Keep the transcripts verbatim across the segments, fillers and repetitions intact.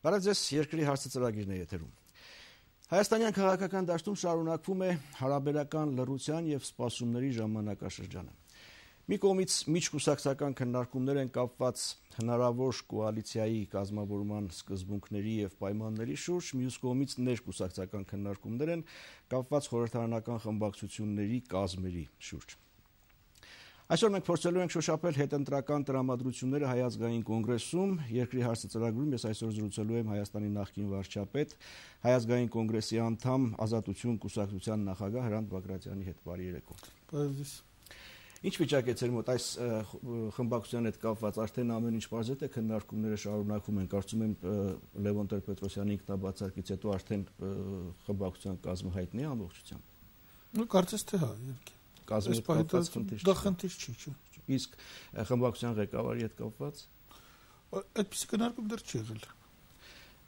Բարև ձեզ, երկրի հարցը ծրագիրն է եթերում։ Հայաստանյան քաղաքական դաշտում շարունակվում է հարաբերական լռության եւ սպասումների ժամանակաշրջանը։ Մի կողմից միջկուսակցական քննարկումներ են կապված հնարավոր կոալիցիայի կազմավորման սկզբունքների եւ պայմանների շուրջ, մյուս կողմից ներկուսակցական քննարկումներ են կապված խորհրդարանական խմբակցությունների կազմերի շուրջ։ Այսօր մենք փորձելու ենք շոշափել հետընտրական տրամադրությունները Հայ ազգային կոնգրեսում, երկրի հարցը ծրագրում ես այսօր զրուցելու եմ Հայաստանի նախկին վարչապետ, Հայ ազգային կոնգրեսի անդամ, Ազատություն կուսակցության նախագահ Հրանտ Բագրատյանի հետ։ Բարի երեկո։ Ինչ վիճակ է ձեր մոտ այս խմբակցության հետ կապված, արդեն ամեն ինչ բարձր է, քննարկումները շարունակվում են, կարծում եմ Լևոն Տեր-Պետրոսյանի ինքնաբացարկից հետո արդեն խմբակցության կազմը հայտնի է ամբողջությամբ։ Ну, կարծես թե հա, իհարկե։ Կազմի հետ կապված խնդիր դա խնդիր չի, չէ։ Իսկ խմբակցության ղեկավարի հետ կապված այդպիսի քննարկում դեռ չի եղել։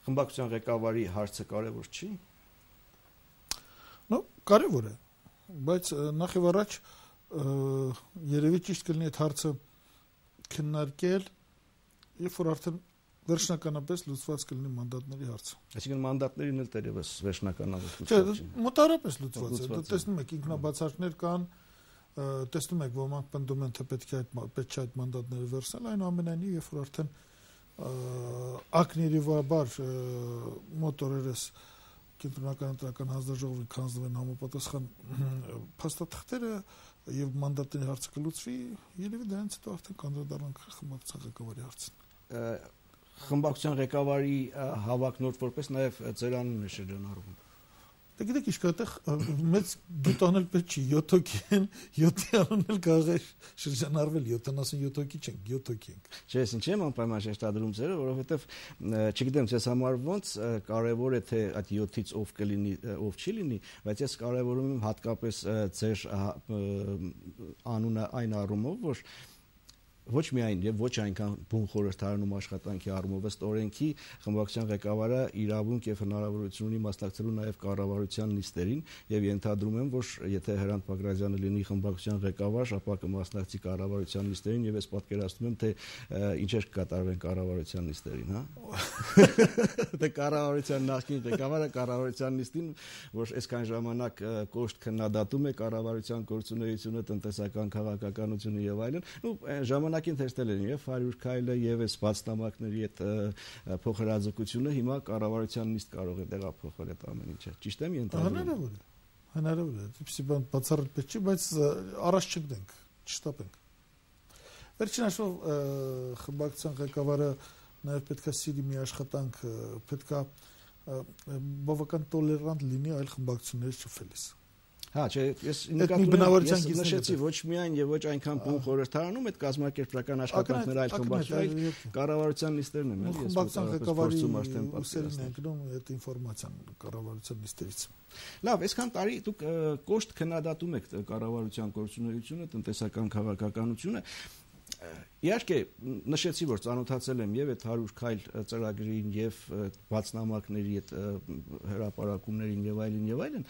Խմբակցության ղեկավարի հարցը կարևոր չի։ Ну, կարևոր է, բայց նախ եւ առաջ երևի ճիշտ կլինի այդ հարցը քննարկել, երբ որ արդեն վերջնականապես լուծված կլինի մանդատների հարցը։ Այսինքն մանդատներին էլ դերևս վերջնականապես լուծված չի։ Չէ, մոտարապես լուծված է։ Դու տեսնում եք ինքնաբացարկներ կան, տեսնում եք ոմանք պնդում են թե պետք է այդ պետք է այդ մանդատները վերցնել, այնուամենայնիվ երբ որ արդեն ակնիրիվաբար մոտ օրերս կենտրոնական ընտրական հանձնաժողովին կանձնվեն համապատասխան փաստաթղթերը եւ մանդատների հարցը կլուծվի, երևի դրանից հետո արդեն կանդրադառնանք խմբակցության ղեկավարի հարցին։ Խմբակցության ղեկավարի հավակնորդ որպես նաև ձեր անունն է շրջանառվում։ Դե գիտեք ինչ կա, այդտեղ մեծ դիտանել պետք չի, յոթ հոգի են, յոթի անունն էլ կարող է շրջանառվել, յոթանասունյոթ հոգի չենք, յոթ հոգի ենք։ Չէ, ես ինչի՞ եմ անպայման շեշտադրում ձերը, որովհետև չգիտեմ, ես համար ոնց կարևոր է թե այդ յոթից ով կլինի, ով չի լինի, բայց ես կարևորում եմ հատկապես ձեր անունը այն առումով, որ ոչ միայն եւ ոչ այնքան բուն խորհրդարանում աշխատանքի առումով ըստ օրենքի խմբակցության ղեկավարը իրավունք եւ հնարավորություն ունի մասնակցելու նաեւ կառավարության նիստերին եւ ենթադրում եմ որ եթե Հրանտ Բագրատյանը լինի խմբակցության ղեկավար, ապա կմասնակցի կառավարության նիստերին եւ ես պատկերացնում եմ թե ինչեր կկատարվեն կառավարության նիստերին, հա։ Դե կառավարության նախկին ղեկավարը կառավարության նիստին, որ այսքան ժամանակ կոշտ քննադատում է կառավարության գործունեությունը, տնտեսական քաղաքականությունը եւ այլն, ու ժամանակին տեսնել են եւ հարյուր քայլը եւ այս բացնամակների այդ փոխհրաձգությունը հիմա կառավարության նիստ կարող է տեղափոխել այդ ամեն ինչը։ Ճիշտ եմ ենթադրում։ Հնարավոր է։ Հնարավոր է։ Դիպսի բան բացառել պետք չի, բայց առաջ չգնենք, չշտապենք։ Վերջին հաշվով խմբակցության ղեկավարը նաեւ պետքա սիրի մի աշխատանք, պետքա բավական տոլերանտ լինի այլ խմբակցությունների շփվելիս։ Հա, չէ, ես նկատում եմ նշեցի ոչ միայն եւ ոչ այնքան բուն խորհրդարանում այդ կազմակերպական աշխատանքները այլ խմբակցություններ, կառավարության նիստերն են, էլի, ես խմբակցության ղեկավարում արդեն պատասխանն են գնում այդ ինֆորմացիան կառավարության նիստերից։ Լավ, այսքան տարի դուք կոշտ քննադատում եք կառավարության գործունեությունը, տնտեսական քաղաքականությունը։ Իհարկե նշեցի որ ծանոթացել եմ եւ այդ հարյուր քայլ ծրագրին եւ բացնամակների այդ հրապարակումներին եւ այլն եւ այլն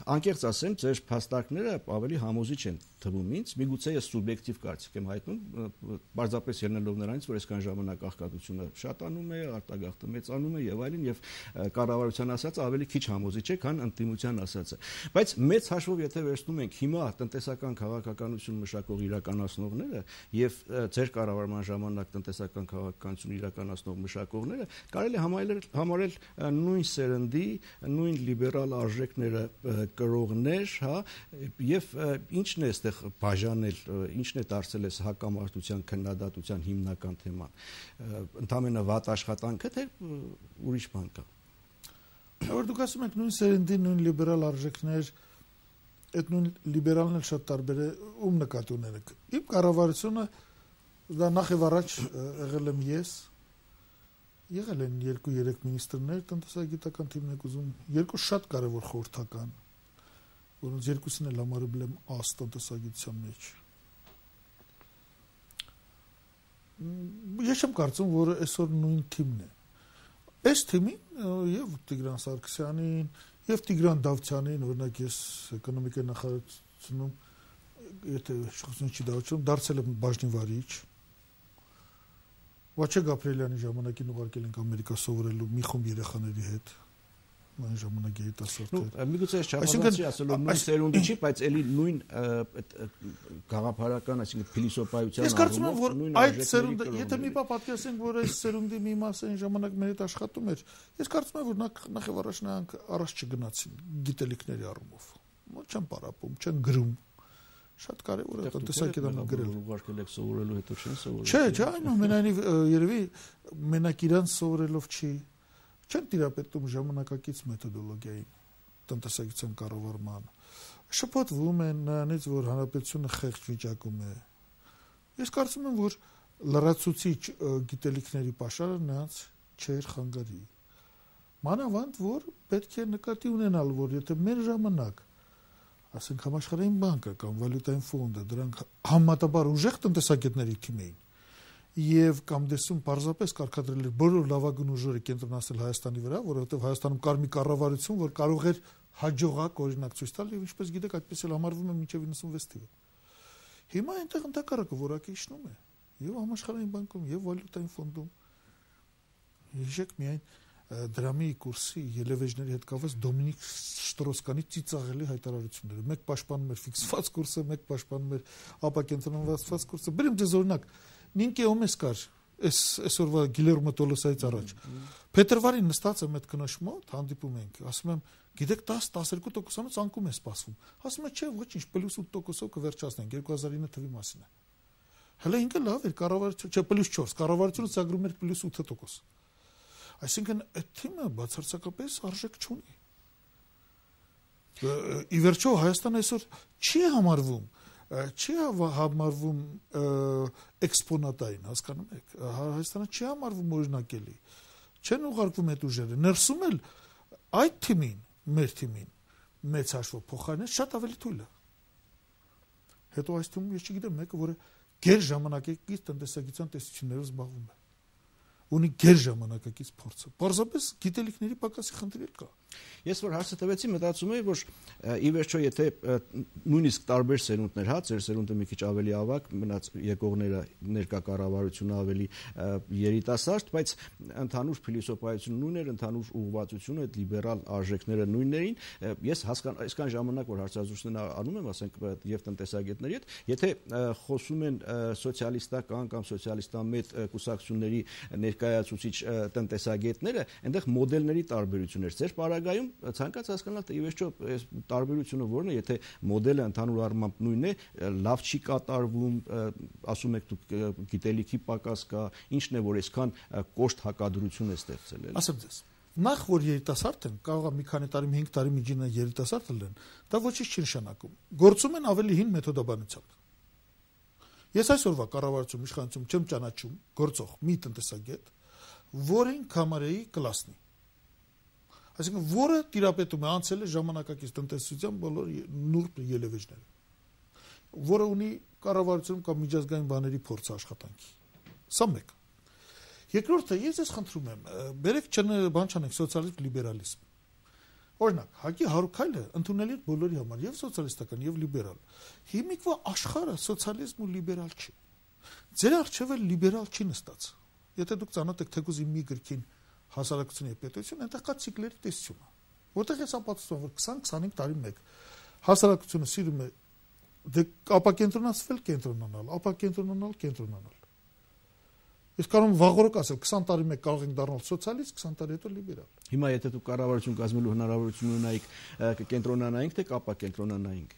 անկեղծ ասեմ, ձեր փաստարկները ավելի համոզիչ են թվում ինձ, միգուցե ես սուբյեկտիվ կարծիք եմ հայտնում, պարզապես ելնելով նրանից, որ այսքան ժամանակ աղքատությունը շատանում է, արտագաղթը մեծանում է եւ այլն եւ կառավարության ասածը ավելի քիչ համոզիչ է, քան ընդդիմության ասածը։ Բայց մեծ հաշվով եթե վերցնում ենք հիմա տնտեսական քաղաքականություն մշակող իրականացնողները եւ ձեր կառավարման ժամանակ տնտեսական քաղաքականություն իրականացնող մշակողները, կարելի է համարել համարել նույն սերնդի, նույն լիբերալ արժեքները կրողներ, հա, եւ ինչն է այստեղ բաժանել, ինչն է դարձել այս հակամարտության քննադատության հիմնական թեման։ Ընդամենը վատ աշխատանքը թե ուրիշ բան կա։ Որ դուք ասում եք նույն սերնդի, նույն լիբերալ արժեքներ, այդ նույն լիբերալն էլ շատ տարբեր է, ում նկատի ունենք։ Իմ կառավարությունը դա նախ եւ առաջ եղել եմ ես, եղել են երկու-երեք մինիստրներ տնտեսագիտական թիմն ուզում, երկու շատ կարևոր խորհրդական, որոնց երկուսին էլ համարել եմ աս տնտեսագիտության մեջ։ Ես չեմ կարծում, որ այսօր նույն թիմն է։ Այս թիմին եւ Տիգրան Սարգսյանին, եւ Տիգրան Դավթյանին, օրինակ ես էկոնոմիկայի նախարարությունում, եթե շփոթություն չի դառնում, դարձել եմ բաժնի վարիչ։ Վաչե Գաբրիելյանի ժամանակին ուղարկել ենք Ամերիկա սովորելու մի խումբ երեխաների հետ։ Այն ժամանակ երիտասարդներ։ Միգուցե չափազանցի ասելով նույն սերունդը չի, բայց էլի նույն գաղափարական, այսինքն փիլիսոփայության Ես կարծում եմ, որ այդ սերունդը, եթե մի բան պատկերացնենք, որ այս սերունդի մի մասը այն ժամանակ մեր հետ աշխատում էր, ես կարծում եմ, որ նախ եւ առաջ նրանք առաջ չգնացին գիտելիքների առումով։ Չեն պարապում, չեն գրում։ Շատ կարևոր է տնտեսագիտանը գրել։ Ուղարկել եք սովորելու հետո չեն սովորել։ Չէ, չէ, այնուամենայնիվ երևի մենակ իրան սովորելով չի, չեն տիրապետում ժամանակակից մեթոդոլոգիային, տնտեսագիտության կառավարման։ Շփոթվում են նրանից, որ հանրապետությունը խեղճ վիճակում է։ Ես կարծում եմ, որ լրացուցիչ գիտելիքների պաշարը նրանց չէր խանգարի։ Մանավանդ, որ պետք է նկատի ունենալ, որ եթե մեր ժամանակ ասենք համաշխարհային բանկը կամ վալյուտային ֆոնդը դրանք համատաբար ուժեղ տնտեսագետների թիմ էին եւ կամ դեսում պարզապես կարգադրել էր բոլոր լավագույն ուժերը կենտրոնացնել Հայաստանի վրա, որովհետեւ Հայաստանում կար մի կառավարություն, որ կարող էր հաջողակ օրինակ ցույց տալ եւ ինչպես գիտեք, այդպես էլ համարվում է մինչեւ իննսունվեց թիվը։ Հիմա այնտեղ ընդհակառակը որակը իջնում է եւ համաշխարհային բանկում եւ վալյուտային ֆոնդում։ Հիշեք միայն դրամի կուրսի ելևեջների հետ կապված Դոմինիկ Շտրոսկանի ծիծաղելի հայտարարությունները։ Մեկ պաշտպանում էր ֆիքսված կուրսը, մեկ պաշտպանում էր ապակենտրոնացված կուրսը։ Բերեմ ձեզ օրինակ, Նինկե Օմես կար, այս այսօրվա Գիլերմո Տոլոսայից առաջ։ Փետրվարին նստած եմ այդ կնոջ մոտ, հանդիպում ենք, ասում եմ, գիտեք դես տասներկու տոկոսանոց անկում է սպասվում։ Ասում է, չէ, ոչինչ, պլյուս ութ տոկոսով կվերջացնենք, երկու հազար ինը թվի մասին է։ Հələ ինքը լավ էր, կառավարությունը, չէ, պլյուս չորս, կառավարությունը ծրագրում էր պլյուս ութ տոկոս։ Այսինքն այդ թիմը բացարձակապես արժեք չունի։ Ի վերջո Հայաստանը այսօր չի համարվում, չի համարվում էքսպոնատային, հասկանում եք։ Հայաստանը չի համարվում օրինակելի։ Չեն ուղարկվում այդ ուժերը։ Ներսում էլ այդ թիմին, մեր թիմին, մեծ հաշվով փոխարինը շատ ավելի թույլ է։ Հետո այս թիմում ես չգիտեմ մեկը, որը գեր ժամանակակից տնտեսագիտության տեսություններով զբաղվում է։ Ունի գեր ժամանակակից փորձը։ Պարզապես գիտելիքների պակասի խնդիր կա։ Ես որ հարցը տվեցի, մտածում էի, որ ի վերջո եթե նույնիսկ տարբեր սերունդներ, հա, ձեր սերունդը մի քիչ ավելի ավագ, մնաց եկողները ներկա կառավարությունը ավելի երիտասարդ, բայց ընդհանուր փիլիսոփայությունը նույնն էր, ընդհանուր ուղղվածությունը, այդ լիբերալ արժեքները նույններին։ Ես հասկան այսքան ժամանակ որ հարցազրույցներ անում եմ, ասենք եւ տնտեսագետների հետ, եթե խոսում են սոցիալիստական կամ սոցիալիստամետ կուսակցությունների ներկայացուցիչ տնտեսագետները, այնտեղ մոդելների տարբերություններ ձեր պարագայում ցանկացած հասկանալ թե ի վերջո այս տարբերությունը որն է, եթե մոդելը ընդհանուր առմամբ նույնն է, լավ չի կատարվում, ասում եք դուք գիտելիքի պակաս կա, ինչն է որ այսքան կոշտ հակադրություն է ստեղծել։ Ասեմ ձեզ, նախ որ երիտասարդ են, կարող է մի քանի տարի, հինգ տարի միջինը երիտասարդ լինեն, դա ոչինչ չի նշանակում։ Գործում են ավելի հին մեթոդաբանությամբ։ Ես այսօրվա կառավարություն իշխանություն չեմ ճանաչում գործող մի տնտեսագետ, որին կամարեի կլասնի։ Այսինքն, որը տիրապետում է անցել է ժամանակակից տնտեսության բոլոր նուրբ ելևեջները, որը ունի կառավարությունում կամ միջազգային բաների փորձ աշխատանքի։ Սա մեկ։ Երկրորդը, ես ես խնդրում եմ, բերեք բան չանենք սոցիալիզմ, լիբերալիզմ։ Օրինակ, Հակի Հարուքայլը ընդունել է բոլորի համար, եւ սոցիալիստական, եւ լիբերալ։ Հիմիկվա աշխարհը սոցիալիզմ ու լիբերալ չի։ Ձեր առջև էլ լիբերալ չի նստած։ Եթե դուք ծանոթ եք թեկուզ մի գրքին հասարակություն եւ պետություն, այնտեղ կա ցիկլերի տեսությունը։ Որտեղ ես ապացուցում որ քսան-քսանհինգ տարի մեկ հասարակությունը սիրում է դե ապակենտրոնացվել, կենտրոնանալ, ապակենտրոնանալ, կենտրոնանալ։ Ես կարող եմ վաղորոք ասել, քսան տարի մեկ կարող ենք դառնալ սոցիալիստ, քսան տարի հետո լիբերալ։ Հիմա եթե դուք կառավարություն կազմելու հնարավորություն ունենայիք, կենտրոնանայինք թե կապակենտրոնանայինք։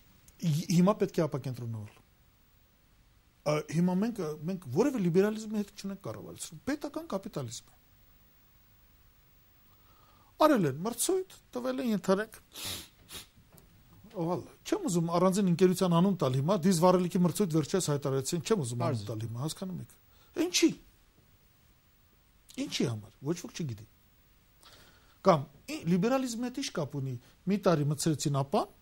Հիմա պետք է ապակենտրոնանալ։ Հիմա մենք մենք որևէ լիբերալիզմի հետ չունենք կառավարություն, պետական կապիտալիզմ է։ Արել են մրցույթ, տվել են ենթարենք։ Ահա, չեմ ուզում առանձին ընկերության անուն տալ հիմա, դիզ վարելիքի մրցույթ վերջերս հայտարարեցին, չեմ ուզում անուն տալ հիմա, հասկանում եք։ Ինչի։ Ինչի համար, ոչ ոք չգիտի։ Կամ լիբերալիզմը հետ ինչ կապ ունի, մի տարի մցրեցին ապան,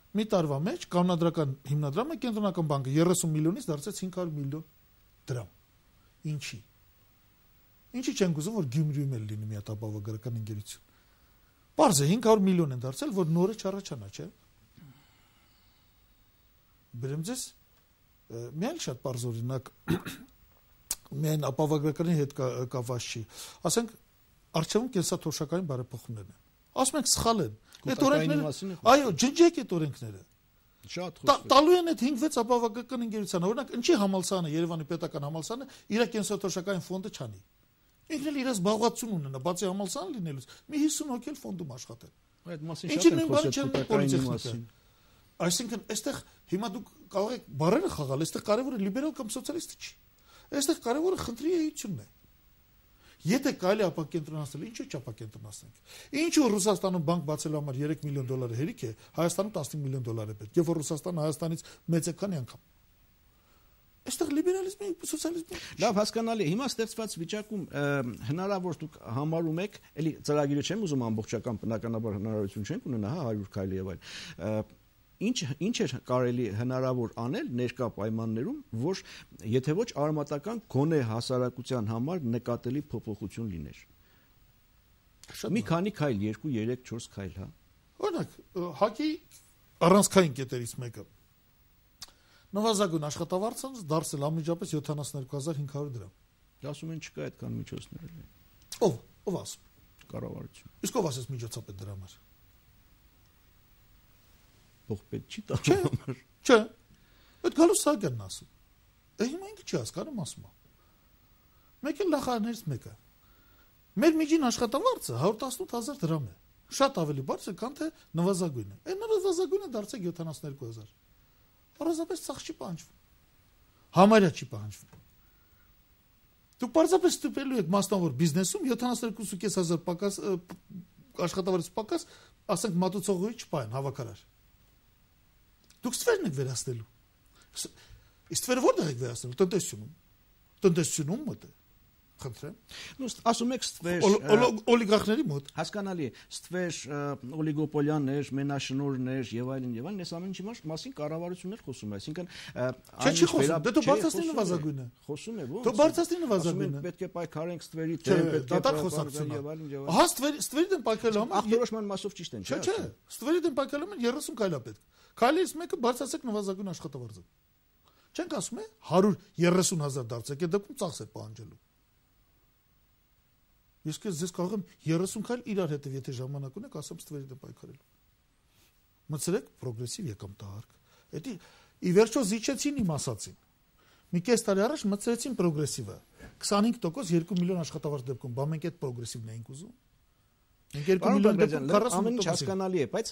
մի տարվա մեջ կանոնադրական հիմնադրամը կենտրոնական բանկը երեսուն միլիոնից դարձեց հինգ հարյուր միլիոն դրամ։ Ինչի։ Ինչի չենք ուզում որ Գյումրիում էլ լինի մի հատ ապահովագրական ընկերություն։ Պարզ է հինգ հարյուր միլիոն են դարձել, որ նորը չառաջանա, չէ՞։ Բերեմ ձեզ մի այլ շատ պարզ օրինակ միայն ապահովագրականի հետ կապված չի։ Ասենք արժեվում կենսաթոշակային բարեփոխումներն են։ Ասում ենք սխալ են։ Այդ օրենքները, այո, ջնջեք այդ օրենքները։ Շատ խոսք։ Տալու են այդ հինգ վեց ապահովագրական ընկերությանը, օրինակ, ինչի համալսարանը, Երևանի պետական համալսարանը իր կենսաթոշակային ֆոնդը չանի։ Ինքն էլ իր զբաղվածություն ունենա, բացի համալսարան լինելուց, մի հիսուն հոգի էլ ֆոնդում աշխատեն։ Այդ մասին շատ են խոսել պետական մասին։ Այսինքն, այստեղ հիմա դուք կարող եք բառերը խաղալ, այստեղ կարևորը լիբերալ կամ սոցիալիստը չի։ Այստեղ կարևորը խնդրի էությունն է։ Եթե կարելի ապակենտրոնացնել, ինչու՞ չապակենտրոնացնենք։ Ինչու Ռուսաստանում բանկ բացելու համար երեք միլիոն դոլար հերիք է, Հայաստանում տասնինը միլիոն դոլար է պետք, եւ որ Ռուսաստանը Հայաստանից մեծ է քանի անգամ։ Այստեղ լիբերալիզմի, սոցիալիզմի։ Լավ, հասկանալի է։ Հիմա ստեղծված վիճակում հնարավոր դուք համարում եք, էլի ծրագիրը չեմ ուզում ամբողջական բնականաբար հնարավորություն չենք ունենա, հա, հարյուր քայլի եւ այլ։ Ինչ ինչ է կարելի հնարավոր անել ներկա պայմաններում, որ եթե ոչ արմատական գոնե հասարակության համար նկատելի փոփոխություն լիներ։ Մի քանի քայլ, երկու, երեք, չորս քայլ, հա։ Օրինակ, հակի առանցքային կետերից մեկը։ Նվազագույն աշխատավարձը դարձել ամիջապես յոթանասուներկու հազար հինգ հարյուր դրամ։ Ասում են չկա այդքան միջոցներ։ Ով, ով ասում։ Կառավարություն։ Իսկ ով ասես միջոցապետ դրա համար։ Փոխպետ չի տալու։ Չէ։ Այդ գալուս Սահակյանն ասում։ Է հիմա ինքը չի հասկանում ասում։ Մեկ էլ նախարարներից մեկը։ Մեր միջին աշխատավարձը հարյուր տասնութ հազար դրամ է։ Շատ ավելի բարձր, քան թե նվազագույնը։ Այն նվազագույնը դարձեք յոթանասուներկու հազար։ Առանձնապես ցախ չի պահանջվում։ Համարյա չի պահանջվում։ Դուք պարզապես ստուպելու եք մասնավոր բիզնեսում յոթանասուներկու հազար պակաս աշխատավարձ պակաս, ասենք մատուցողի չպահեն հավաքարար։ Դուք ստվերն եք վերացնելու։ Ստվերը որտեղ եք վերացնելու։ Տնտեսությունում։ Տնտեսությունում մոտ է։ Խնդրեմ։ Ну, ասում եք ստվեր օլիգարխների մոտ։ Հասկանալի է, ստվեր օլիգոպոլիաներ, մենաշնորհներ եւ այլն եւ այլն, այս ամենի մասին կառավարություններ խոսում է, այսինքն Չէ, չի խոսում, դե դու բարձրացնի նվազագույնը։ Խոսում է ո՞ց։ Դու բարձրացնի նվազագույնը։ Պետք է պայքարենք ստվերի դեմ, պետք է խոսակցություն եւ այլն եւ այլն։ Ահա ստվերի ստվերի դեմ պայքարելու համար ախտորոշման մասով ճիշտ են, չէ՞։ Չէ, ստվերի դեմ պայքարելու համար երեսուն քայլ է պետք։ Քայլից մեկը բարձրացեք նվազագույն աշխատավարձը։ Չենք ասում է հարյուր երեսուն հազար դարձեք, այդ դեպքում ծախս է պահանջելու։ Իսկ ես կարող եմ երեսուն քայլ իրար հետև եթե ժամանակ ունեք, ասեմ ստվերի դեմ պայքարելու։ Մտցրեք պրոգրեսիվ եկամտահարկ։ Դա ի վերջո զիջեցին իմ ասածին։ Մի կես տարի առաջ մտցրեցին պրոգրեսիվը։ քսանհինգ տոկոս երկու միլիոն աշխատավարձ դեպքում, բա մենք այդ պրոգրեսիվն էինք ուզում։ Մենք երկու միլիոն դեպքում ամեն ինչ հասկանալի է, բայց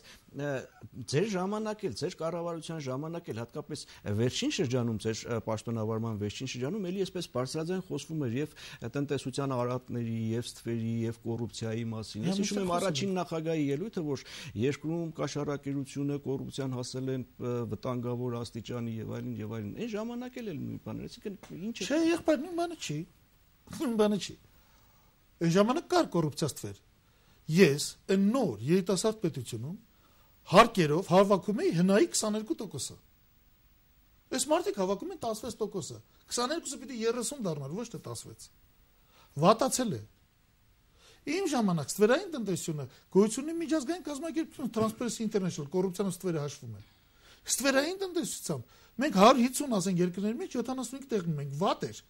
ձեր ժամանակ էլ, ձեր կառավարության ժամանակ էլ, հատկապես վերջին շրջանում, ձեր պաշտոնավարման վերջին շրջանում էլի այսպես բարձրաձայն խոսվում էր եւ տնտեսության արատների, եւ ստվերի, եւ կոռուպցիայի մասին։ Ես հիշում եմ առաջին նախագահի ելույթը, որ երկրում կաշառակերությունը, կոռուպցիան հասել են վտանգավոր աստիճանի եւ այլն եւ այլն։ Այն ժամանակ էլ էլ նույն բաներ, այսինքն ինչ է։ Չէ, եղբայր, նույն բանը չի։ Նույն բանը չի։ Այն ժամանակ կար կոռուպցիա ստվեր։ Ես այն նոր երիտասարդ պետությունում հարկերով հավաքում էի հնայի քսաներկու տոկոսը։ Այս մարդիկ հավաքում են տասնվեց տոկոսը։ քսաներկուսը պիտի երեսուն դառնար, ոչ թե տասնվեց։ Վատացել է։ Իմ ժամանակ ստվերային տնտեսությունը գոյություն ունի միջազգային կազմակերպություն Transparency International կոռուպցիան ստվերը հաշվում է։ Ստվերային տնտեսությամբ մենք հարյուր հիսուն ասենք երկրների մեջ յոթանասունհինգ տեղում ենք, վատ էր։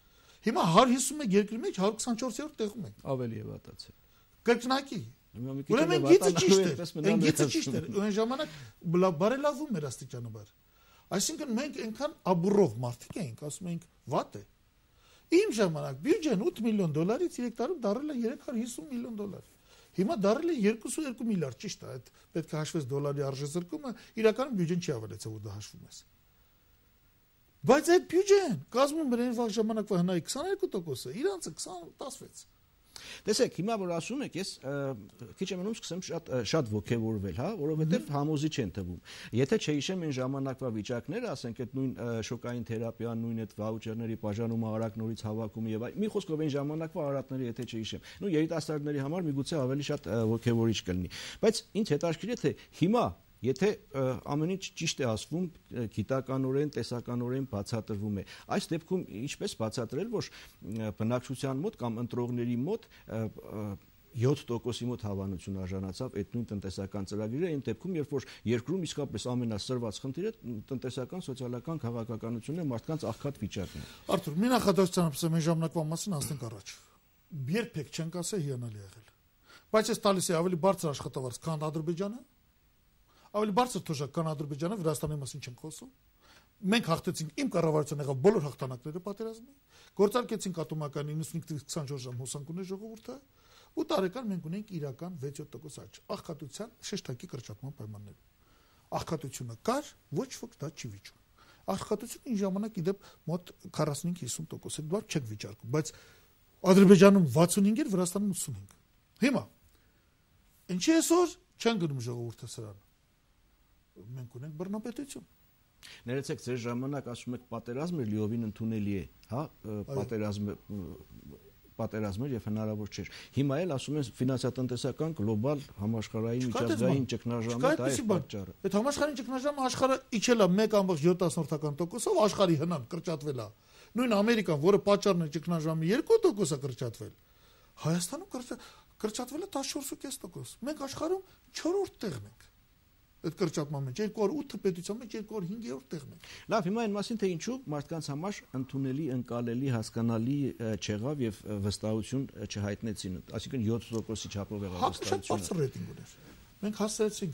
Հիմա հարյուր հիսուն մեկ երկրի մեջ հարյուր քսանչորսերորդ տեղում ենք։ Ավելի է վատացել։ Կրկնակի Ուրեմն գիծը ճիշտ է, այն գիծը ճիշտ է, այն ժամանակ բարելավում էր աստիճանաբար։ Այսինքն մենք այնքան աբուրով մարդիկ էինք, ասում էինք վատ է։ Իմ ժամանակ բյուջեն ութ միլիոն դոլարից երեք տարում դարել է երեք հարյուր հիսուն միլիոն դոլար։ Հիմա դարել է երկուսուերկու միլիարդ, ճիշտ է, այդ պետք է հաշվես դոլարի արժեզրկումը, իրականում բյուջեն չի ավելացել, որ դա հաշվում ես։ Բայց այդ բյուջեն կազմում էր այն վաղ ժամանակվա հնայի քսաներկու տոկոսը, իրանցը քսան տասնվեց։ Տեսեք, հիմա որ ասում եք, ես քիչ եմ մնում սկսեմ շատ շատ ոգևորվել, հա, որովհետև համոզիչ են թվում։ Եթե չհիշեմ այն ժամանակվա վիճակները, ասենք այդ նույն շոկային թերապիան, նույն այդ վաուչերների բաժանումը, արագ նորից հավաքումը եւ այլ, մի խոսքով այն ժամանակվա արատները եթե չհիշեմ, նու երիտասարդների համար միգուցե ավելի շատ ոգևորիչ կլինի։ Բայց ինձ հետաքրքիր է թե հիմա Եթե ամեն ինչ ճիշտ է ասվում, գիտականորեն, տեսականորեն բացատրվում է։ Այս դեպքում ինչպես բացատրել, որ բնակչության մոտ կամ ընտրողների մոտ յոթ տոկոսի մոտ հավանություն արժանացավ այդ նույն տնտեսական ծրագիրը, այն դեպքում, երբ որ երկրում իսկապես ամենասրված խնդիրը տնտեսական, սոցիալական քաղաքականությունն է, մարդկանց աղքատ վիճակն է։ Արթուր, մի նախադասությամբ ասեմ, այն ժամանակվա մասին հասնենք առաջ։ Երբեք չենք ասել հիանալի եղել։ Բայց այս տալիս է ավելի բարձր աշխատավարձ, քան Ադրբեջանը, ավելի բարձր թոշակ, քան Ադրբեջանը, Վրաստանի մասին չենք խոսում։ Մենք հաղթեցինք, իմ կառավարությունը եղավ բոլոր հաղթանակները պատերազմի, գործարկեցինք ատոմական իննսունինք քսանչորս ժամ հոսանք ուներ ժողովուրդը, ու տարեկան մենք ունենք իրական վեց-յոթ տոկոս աճ, աղքատության շեշտակի կրճատման պայմաններում։ Աղքատությունը կար, ոչ ոք դա չի վիճում։ Աղքատությունը այն ժամանակ իդեպ մոտ քառասունհինգ հիսուն տոկոս էր, դա չեք վիճարկում, բայց Ադրբեջանում վաթսունհինգ էր, Վրաստանում ութսունհինգ։ Հիմա ինչի այսօր չեն գնում ժողովուրդը սրան։ Մենք ունենք բռնապետություն։ Ներեցեք, ձեր ժամանակ ասում եք պատերազմը լիովին ընդունելի է, հա, պատերազմը պատերազմը եւ հնարավոր չէր։ Հիմա էլ ասում են ֆինանսատնտեսական գլոբալ համաշխարհային միջազգային ճգնաժամը դա է պատճառը։ Այդ համաշխարհային ճգնաժամը աշխարհը իջել է մեկ կόμma յոթ տոկոսով, աշխարհի հնան կրճատվել է։ Նույն Ամերիկան, որը պատճառն է ճգնաժամի երկու տոկոս է կրճատվել։ Հայաստանում կրճատվել է տասնչորս կես տոկոս։ Մենք աշխարհում չորրորդ տեղն ենք։ Այդ կրճատման մեջ երկու հազար ութ պետության մեջ երկու հազար հինգերորդ տեղն է։ Լավ, հիմա այն մասին թե ինչու մարդկանց համար ընդունելի, ընկալելի, հասկանալի չեղավ եւ վստահություն չհայտնեցին, այսինքն յոթ տոկոսի չափով եղավ վստահությունը։ Շատ բարձր ռեյտինգ ուներ։ Մենք հասցրեցինք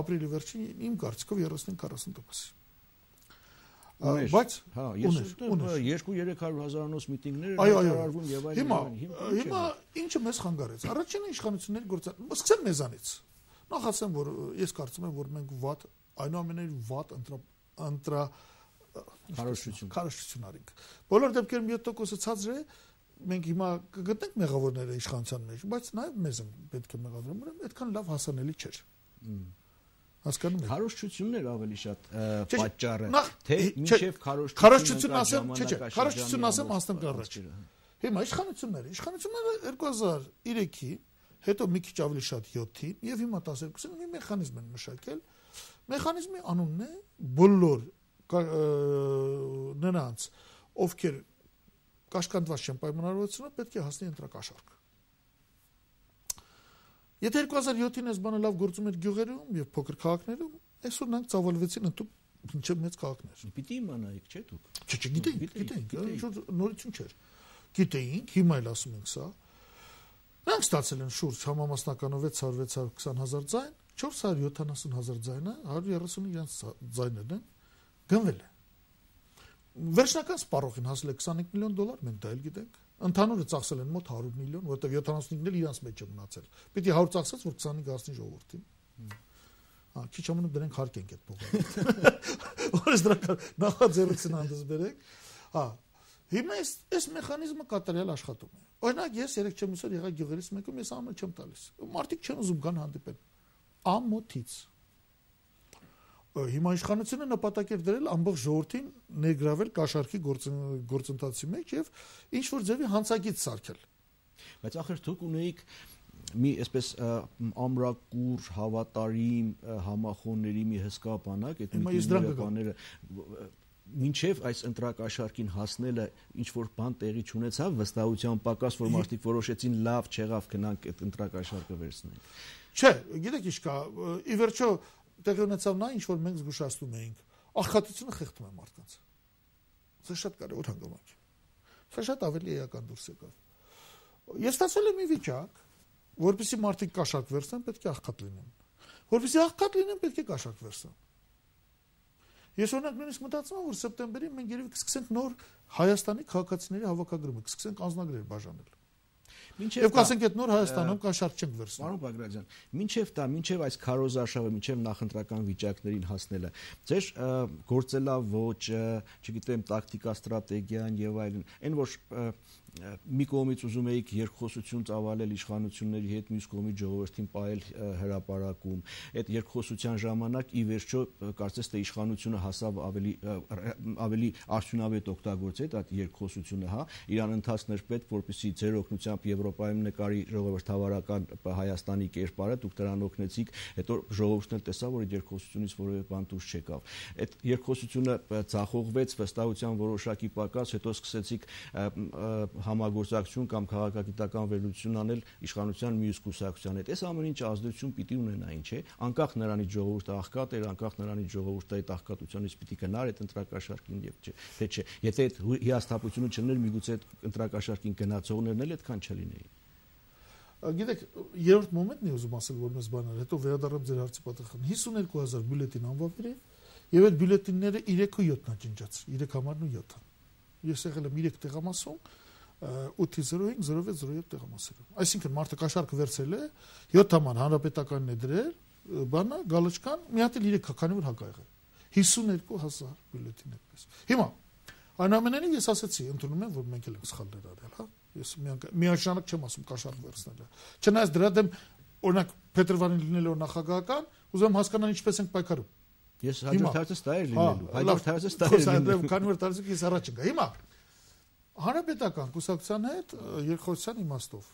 ապրիլի վերջին իմ կարծիքով երեսուն քառասուն տոկոսի։ Բայց հա, ես երկու-երեք հարյուր հազարանոց միտինգներ արարվում եւ այլն։ Հիմա հիմա ինչը մեզ խանգարեց։ Առաջինը իշխանությունների գործառույթ։ Սկսեմ մեզանից։ Նախ ասեմ, որ ես կարծում եմ, որ մենք վատ, այնուամենայնիվ վատ ընտրա քարոզություն քարոզություն արինք։ Բոլոր դեպքերում յոթ տոկոսը ցածր է, մենք հիմա կգտնենք մեղավորները իշխանության մեջ, բայց նաև մեզ պետք է մեղադրել, ուրեմն այդքան լավ հասանելի չէր։ Հասկանում եք։ Քարոզությունն էր ավելի շատ պատճառը, թե մինչև քարոզություն ասեմ, չէ, չէ, քարոզություն ասեմ անցնենք առաջ։ Հիմա իշխանությունները, իշխանությունները երկու հազար երեքի հետո մի քիչ ավելի շատ յոթին եւ հիմա տասներկուսին մի մեխանիզմ են մշակել։ Մեխանիզմի անունն է բոլոր նրանց, ովքեր կաշկանդված չեն պայմանավորվածությունը, պետք է հասնի ընտրակաշառք։ Եթե երկու հազար յոթին այս բանը լավ գործում էր գյուղերում եւ փոքր քաղաքներում, այսօր նրանք ծավալվեցին ընդհանուր մինչեւ մեծ քաղաքներ։ Պիտի իմանայիք, չէ՞ դուք։ Չէ, չէ, գիտեինք, գիտեինք, նորություն չէր։ Գիտեինք, հիմա էլ ասում ենք սա։ Նրանք ստացել են շուրջ համամասնականով վեց հարյուր վեց հարյուր քսան հազար ձայն, չորս հարյուր յոթանասուն հազար ձայնը, հարյուր երեսուն իրենց ձայներն են գնվել է։ Վերջնական սպառողին հասել է քսանհինգ միլիոն դոլար, մենք դա էլ գիտենք։ Ընդհանուրը ծախսել են մոտ հարյուր միլիոն, որտեղ յոթանասունհինգն էլ իրենց մեջ է մնացել։ Պիտի հարյուր ծախսած, որ քսանհինգ հասնի ժողովրդին։ Հա, քիչ ամենը դրանք հարկենք այդ փողը։ Որս դրական նախաձեռնություն հանդես բերեք։ Հա, հիմա այս այս մեխանիզմը կատարյալ աշխատում է։ Օրինակ ես երեք չեմ ուսել եղա գյուղերից մեկում, ես ամեն չեմ տալիս։ Մարդիկ չեն ուզում գան հանդիպեն։ Ամոթից։ Հիմա իշխանությունը նպատակ էր դրել ամբողջ ժողովրդին ներգրավել կաշառքի գործընթացի մեջ եւ ինչ որ ձևի հանցագիծ սարքել։ Բայց ախր դուք ունեիք մի այսպես ամրակուր, հավատարիմ համախոհների մի հսկա բանակ, այդ մի բաները մինչև այս ընտրակաշառքին հասնելը ինչ որ բան տեղի չունեցավ, վստահության պակաս, որ մարդիկ որոշեցին լավ չեղավ գնանք այդ ընտրակաշառքը վերցնենք։ Չէ, գիտեք ինչ կա, ի վերջո տեղի ունեցավ նա ինչ որ մենք զգուշացնում էինք, աղքատությունը խեղդում է մարդկանց։ Սա շատ կարևոր հանգամանք է։ Սա շատ ավելի էական դուրս եկավ։ Ես ստացել եմ մի վիճակ, որպեսզի մարդիկ կաշառք վերցնեն, պետք է աղքատ լինեն։ Որպեսզի աղքատ լինեն, պետք է կաշառք վերցնեն։ Ես օրինակ նույնիսկ մտածում եմ, որ սեպտեմբերին մենք երևի կսկսենք նոր Հայաստանի քաղաքացիների հավաքագրումը, կսկսենք անձնագրեր բաժանել։ Մինչև Եվ կասենք այդ նոր Հայաստանում կաշառք չենք վերցնում։ Պարոն Բագրատյան, մինչև դա, մինչև այս քարոզարշավը, մինչև նախընտրական վիճակներին հասնելը, ձեր գործելավոճը, չգիտեմ, տակտիկա, ստրատեգիան եւ այլն, այն որ մի կողմից ուզում էիք երկխոսություն ծավալել իշխանությունների հետ, մյուս կողմից ժողովրդին պահել հրապարակում, այդ երկխոսության ժամանակ ի վերջո կարծես թե իշխանությունը հասավ ավելի ավելի արդյունավետ օգտագործել այդ երկխոսությունը, հա, իրան ընթացներ պետք, որպեսզի ձեր օգնությամբ Եվրոպայում նկարի ժողովրդավարական Հայաստանի կերպարը, դուք դրան օգնեցիք, հետո ժողովուրդն էլ տեսավ, որ այդ երկխոսությունից որևէ բան դուրս չեկավ։ Այդ երկխոսությունը ձախողվեց, վստահության որոշակի պակաս, հետո սկսեցիք համագործակցություն կամ քաղաքագիտական վերլուծություն անել իշխանության մյուս կուսակցության հետ։ Այս ամեն ինչ ազդեցություն պիտի ունենային, չէ՞։ Անկախ նրանից ժողովուրդը աղքատ էր, անկախ նրանից ժողովուրդը այդ աղքատությունից պիտի գնար այդ ընտրակաշարքին եւ չէ, թե չէ։ Եթե այդ հիասթափությունը չներ, միգուցե այդ ընտրակաշարքին գնացողներն էլ այդքան չլինեին։ Գիտեք, երրորդ մոմենտն է ուզում ասել, որ մեզ բաներ, հետո վերադառնամ ձեր հարցի պատասխան։ հիսունյոթ հազար բյուլետին անվավեր է, եւ այդ բյուլետինները երեք ու յոթն աջնջաց, երեք համարն ու յոթը։ Ես եղել եմ երեք տեղամասում, ութ զիրո հինգ զիրո վեց զիրո յոթ տեղամասերում։ Այսինքն մարդը կաշառքը վերցել է, յոթ համար հանրապետականն է դրել, բանը գալչկան, մի հատ էլ երեք քանի որ հակա եղել։ հիսունյոթ հազար բյուլետին այդպես։ Հիմա այնուամենայնիվ ես ասացի, ընդունում եմ, որ մենք էլ ենք սխալներ արել, հա։ Ես միանշանակ չեմ ասում կաշառք վերցնելը։ Չնայած դրա դեմ օրինակ Փետրվարին լինելով նախագահական, ուզում հասկանալ ինչպես ենք պայքարում։ Ես հաջորդ հարցը դա էր լինելու։ Հաջորդ հարցը դա էր լինելու։ Քանի որ տարածք ես առաջ գա։ Հիմա հանրապետական կուսակցության հետ երկխոսության իմաստով։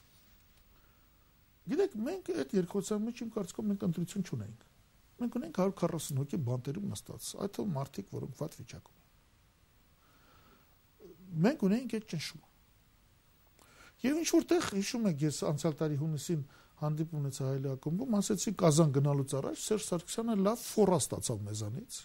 Գիտեք, մենք այդ երկխոսության մեջ իմ կարծիքով մենք ընտրություն չունենք։ Մենք ունենք հարյուր քառասուն հոգի բանտերում նստած, այդ թվում մարդիկ, որոնք վատ վիճակում են։ Մենք ունենք այդ ճնշումը։ Եվ ինչ որտեղ հիշում եք, ես անցյալ տարի հունիսին հանդիպում ունեցա Հայելի ակումբում, ասեցի Կազան գնալուց առաջ Սերժ Սարգսյանը լավ ֆորա ստացավ մեզանից։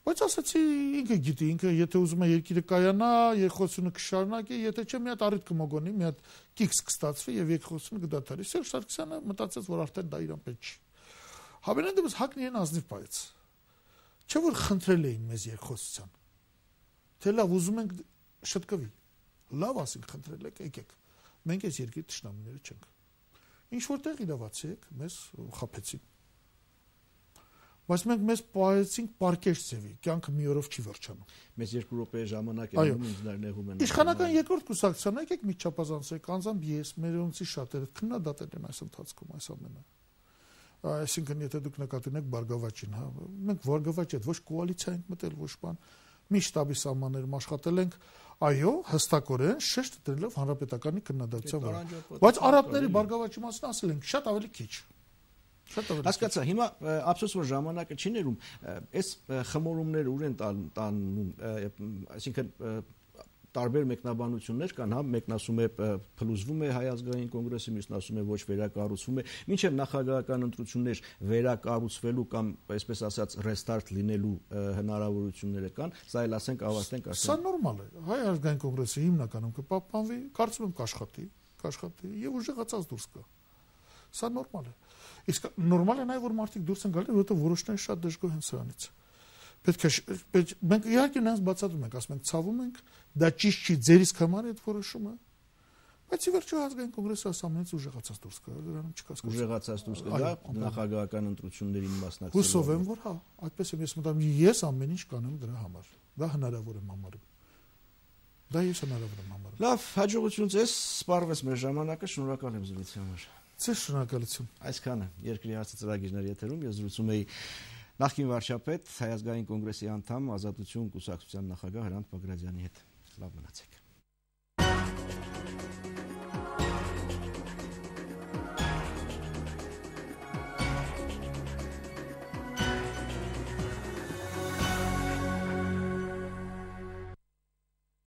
Բայց ասեցի ինքը գիտի, ինքը եթե ուզում է երկիրը կայանա, երկխոսությունը կշարունակի, եթե չէ մի հատ առիթ կմոգոնի, մի հատ կիքս կստացվի եւ երկխոսությունը կդադարի։ Սերժ Սարգսյանը մտածեց, որ արդեն դա իրան պետք չի։ Հավանաբար դեպս հակն իրեն ազնիվ պայեց։ Չէ որ խնդրել էին մեզ երկխոսության։ Թե լավ ուզում ենք շտկվի։ Լավ ասենք խնդրել եք, եկեք։ Մենք այս երկրի թշնամիները չենք։ Ինչ որտեղ իրավացի եք, մեզ խաբեցին։ Բայց մենք մեզ պահեցինք պարկեշ ձևի, կյանքը մի օրով չի վերջանում։ Մեզ երկու րոպե ժամանակ է մնում ինձ նեղում են։ Իշխանական երկրորդ կուսակցության եկեք մի չափազանցեք, անձամբ ես, մերոնցի շատերը քննադատել են այս ընթացքում այս ամենը։ Այսինքն եթե դուք նկատի ունեք Բարգավաճին, հա, մենք Բարգավաճի հետ ոչ կոալիցիա ենք մտել, ոչ բան, մի շտաբի սահմաններում աշխատել ենք, այո, հստակորեն շեշտ դրելով հանրապետականի քննադատության վրա։ Բայց արաբների Բարգավաճի մասին ասել ենք շատ ավելի քիչ։ Հասկացա, հիմա ափսոս որ ժամանակը չի ներում, այս խմորումները ուր են տանում, այսինքն տարբեր մեկնաբանություններ կան, հա, մեկն ասում է փլուզվում է Հայ ազգային կոնգրեսը, մյուսն ասում է ոչ վերակառուցվում է, մինչև նախագահական ընտրություններ վերակառուցվելու կամ այսպես ասած ռեստարտ լինելու հնարավորությունները կան, սա էլ ասենք ավարտենք արդեն։ Սա նորմալ է։ Հայ ազգային կոնգրեսը հիմնականում կպահպանվի, կարծում եմ կաշխատի, կաշխատի եւ ուժեղացած դուրս կա։ Սա նորմալ է։ Իսկ նորմալ է նաեւ որ մարդիկ դուրս են գալու, որովհետեւ որոշները շատ դժգոհ են սրանից։ Պետք է մենք իհարկե նրանց բացատրում ենք, ասում ենք ցավում ենք, դա ճիշտ չի, ձեր իսկ համար է այդ որոշումը, բայց ի վերջո ազգային կոնգրեսը ասամենից ուժեղացած դուրս կա, դրանում չկա։ Ուժեղացած դուրս կգա նախագահական ընտրություններին մասնակցելու։ Հուսով եմ, որ հա, այդպես եմ ես մտածում, ես ամեն ինչ կանեմ դրա համար։ Դա հնարավոր եմ համարում։ Դա ես հնարավոր եմ համարում։ Լավ, հաջողություն ձեզ, սպառվեց մեր ժամանակը, շնորհակալ եմ զրույցի համար։ Ձեզ շնորհակալություն։ Այսքանը երկրի հարցը ծրագիրներ եթերում ես զրուցում էի նախկին վարչապետ Հայ ազգային կոնգրեսի անդամ Ազատություն կուսակցության նախագահ Հրանտ Բագրատյանի հետ։ Լավ մնացեք։